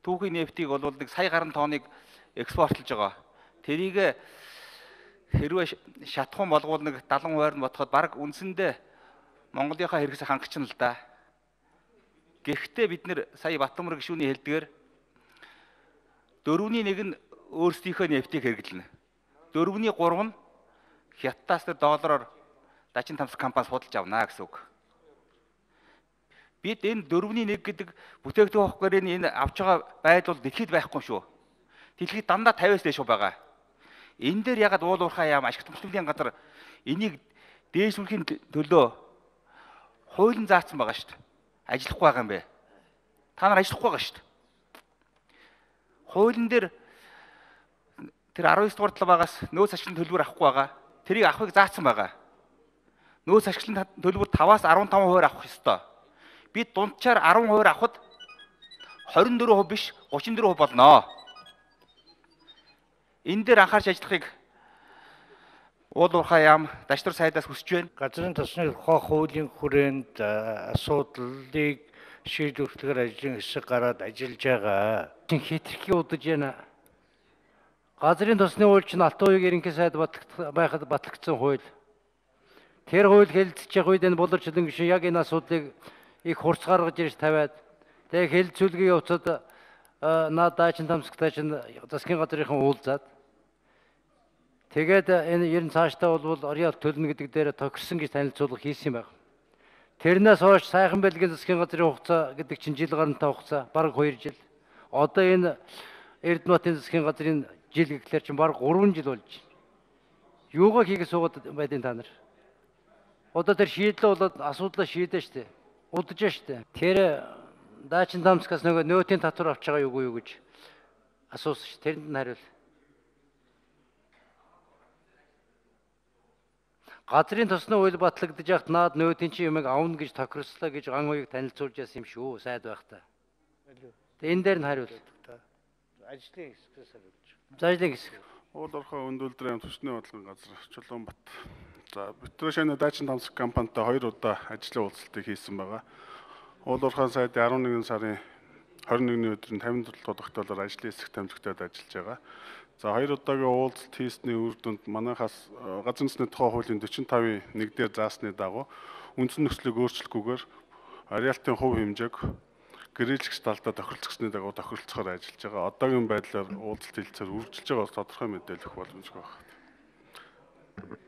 түүхийн нефтийг бол нэг сая гаруй тонныг экспортлж байгаа. Тэрийг хэрвээ шатхан болгоул нэг 70 хувиар нь ботход баг үндсэндээ Монголынхаа хэрэгсээ хангачна л да. Гэхдээ бид нэр сая Батбамбар гишүүний хэлдгээр 4-1 нь өөрсдийнхөө нефтийг хэрэглэнэ. 4-3 нь хятадаас тэр доллараар Дажин Тамсаг компаниас худалдаж авна гэсэн үг. Бид энэ 4-1 гэдэг бүтээгдэхүүн хогорын энэ авч байгаа байдал бол дэлхийд байхгүй шүү. Дэлхийд дандаа 50-аас дээш байгаа. Энэ дээр ягаад уул уурхай яам ашигт хөтөлбөрийн газар энийг дээшлүүлэхийн төлөө хуулийн заасан байгаа шүү дээ. Ажиллахгүй байгаа юм бэ? Та нар ажиллахгүй байгаа шүү дээ. Хуулийн дээр тэр 19 дугаар талбайгаас нөөц ашиглалтын төлбөр авахгүй байгаа. Тэрийг авахыг заасан байгаа. Нөөц ашиглалтын төлбөр 5-аас 15% авах ёстой. Бид дунджаар 10% авахд 24% биш 34% болно. Энэ дээр анхаарч ажиллахыг уул уурхай яам Дашнар сайдаас хүсэж байна. Газрын тосны хуулийн хүрээнд асуудлыг шийдвэрлэхээр ажлын хэсэг гараад ажиллаж байгаа. Хэтэрхий удаж байна. Газрын тосны хууль чинь Алтан уугийн ерөнхий сайд байхад батлагдсан хууль. Тэр хууль хэлэлцэж явах үед энэ буларчлан гишүүн яг энэ асуудлыг их хурц гаргаж ирж тавиад тэгээ хэлэлцүүлгийн явцад Дажин Тамсагтай чинь засгийн газрынхан уулзаад тэгээд энэ ер нь цаашдаа бол орон алт төлнө гэдэг дээр тохирсон гэж танилцуулга хийсэн юм байна. Тэрнээс хойш сайхан бэлгийн засгийн газрын хугацаа гэдэг чинь жил гарантай хугацаа бараг 2 жил. Одоо энэ Эрдэнэтийн засгийн газрын жил гэхлээр чинь бараг 3 жил болж байна. Юугаа хийгээд суугаад байдیں та нар? Одоо тэр шийдлээ болоод асуудлаа шийдэж штэ. Удаж штэ. Тэр Дажин Тамсагаас нөгөө нөөтийн татвар авч байгаа юу гэж асуусан ш. Тэрэнд нь хариул. Газрын тосны хууль батлагдаж яхад наад нөөтийн чи юмыг авна гэж тохирслоо гэж ган уяг танилцуулж яасан юм шүү. Сайд байхдаа. Энэ дээр нь хариул. Ажлын хэсгээс хариулж. За ажлын хэсэг. Уул уурхай өндөлдрийн төсний бодлогын газар Чулуунбат. За Битрэшаны Дажин Тамсаг компанитай 2 удаа ажлын уулзалтыг хийсэн байгаа. Уул уурхай сайдын 11 сарын 21-ний өдрийн 57 дугаар тогтоолоор ажлын хэсэг тамжигтаад ажиллаж байгаа. За 2 удаагийн уулзалт хийсний үр дүнд манайхаас газрын тосны тухай хуулийн 45-ийн 1 дээр заасны дагуу үндсэн нөхцөлийг өөрчлөхгүйгээр ареалтын хувь хэмжээг гэрээлэгч талдаа тохиролцсны дагуу тохиролцохоор ажиллаж байгаа. Одоогийн байдлаар уулзалт хэлцээр үргэлжилж байгаа тодорхой мэдээлэл өгөх боломжтой байна.